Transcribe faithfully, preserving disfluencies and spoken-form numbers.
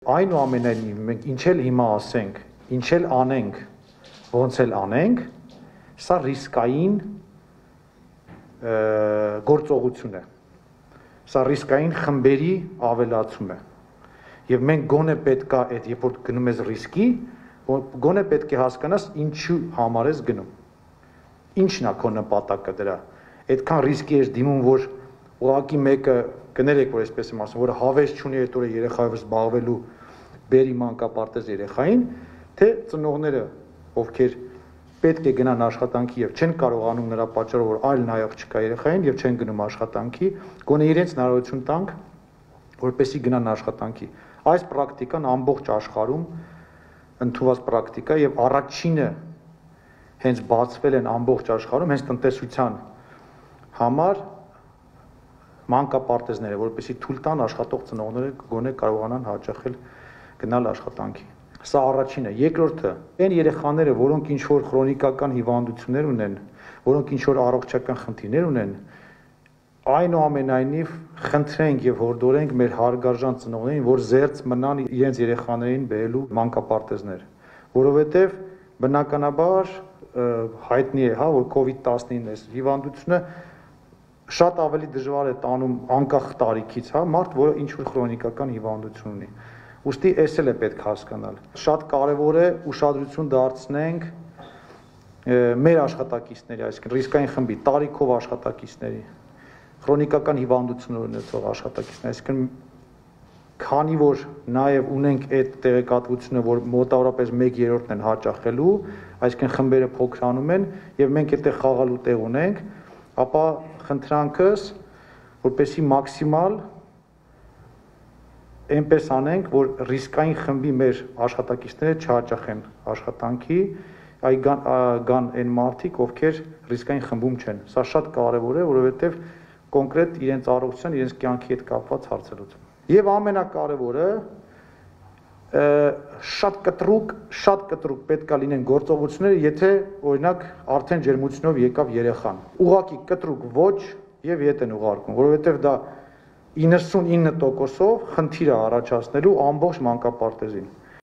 այնուամենայնիվ մենք ինչ էլ հիմա ասենք, ինչ էլ անենք, ոնց էլ անենք, սա ռիսկային գործողություն է։ Սա ռիսկային խմբերի ավելացում է։ Եվ մենք գոնե պետք է այդ երբ որ գնում ես ռիսկի, գոնե պետք է հասկանաս ինչու համար ես գնում։ Ինչն է քո նպատակը դրա։ Այդքան ռիսկի ես դիմում, որ ուղղակի մեկը կներեք, որ այսպես եմ ասում, որ հավես չունի այդ օրը երեխայով զբաղվելու բերի մանկապարտեզ երեխային, թե ծնողները, ովքեր պետք է գնան աշխատանքի եւ չեն կարողանում նրա պատճառով, որ այլ նայող չկա երեխային եւ չեն գնում աշխատանքի, գոնե իրենց հնարավորություն տանք, որպեսզի գնան աշխատանքի։ Այս պրակտիկան ամբողջ աշխարհում ընդունված պրակտիկա եւ առաջինը հենց բացվել են ամբողջ աշխարհում հենց տնտեսության համար մանկապարտեզները, որպեսզի թույլ տան աշխատող ծնողները գոնե կարողանան հաճախել գնալ աշխատանքի։ Սա առաջինը, երկրորդը, այն երեխաները, որոնք ինչ որ քրոնիկական հիվանդություններ ունեն, որոնք ինչ որ առողջական խնդիրներ ունեն, այնուամենայնիվ խնդրենք եւ հորդորենք մեր հարգարժան ծնողներին, որ զերծ մնան իրենց երեխաներին բերելու մանկապարտեզներ, որովհետեւ բնականաբար հայտնի է, հա, որ կովիդ տասնինը հիվանդությունը շատ ավելի դժվար է տանում անկախ տարիքից, հա, մարդ, որը ինչ որ քրոնիկական հիվանդություն ունի։ Ուստի էս էլ է պետք հասկանալ։ Շատ կարևոր է ուշադրություն դարձնենք մեր աշխատակիցների, այսինքն ռիսկային խմբի, տարիքով աշխատակիցների, քրոնիկական հիվանդություններ ունեցող աշխատակիցների, այսինքն քանի որ նաև ունենք այդ տեղեկատվությունը, որ մոտավորապես մեկ երրորդն են հաճախելու, այսինքն խմբերը փոքրանում են եւ մենք այդտեղ խաղալու տեղ ունենք, ապա խնդրանքս, որպեսզի մաքսիմալ այնպես անենք, որ ռիսկային խմբի մեր աշխատակիցները չհաճախեն աշխատանքի, այ գան, գան այն մարդիկ, ովքեր ռիսկային խմբում չեն։ Սա շատ կարևոր է, որովհետև կոնկրետ իրենց առողջության, իրենց կյանքի հետ կապված հարցերուց։ Եվ ամենակարևորը շատ կտրուկ, շատ կտրուկ պետք է լինեն գործողությունները, եթե օրինակ արդեն ջերմությունով եկավ երեխան։ Ուղղակի կտրուկ ոչ եւ ետ են ուղարկում, որովհետև դա իննսունինը տոկոսով խնդիր է առաջացնելու ամբողջ մանկապարտեզին։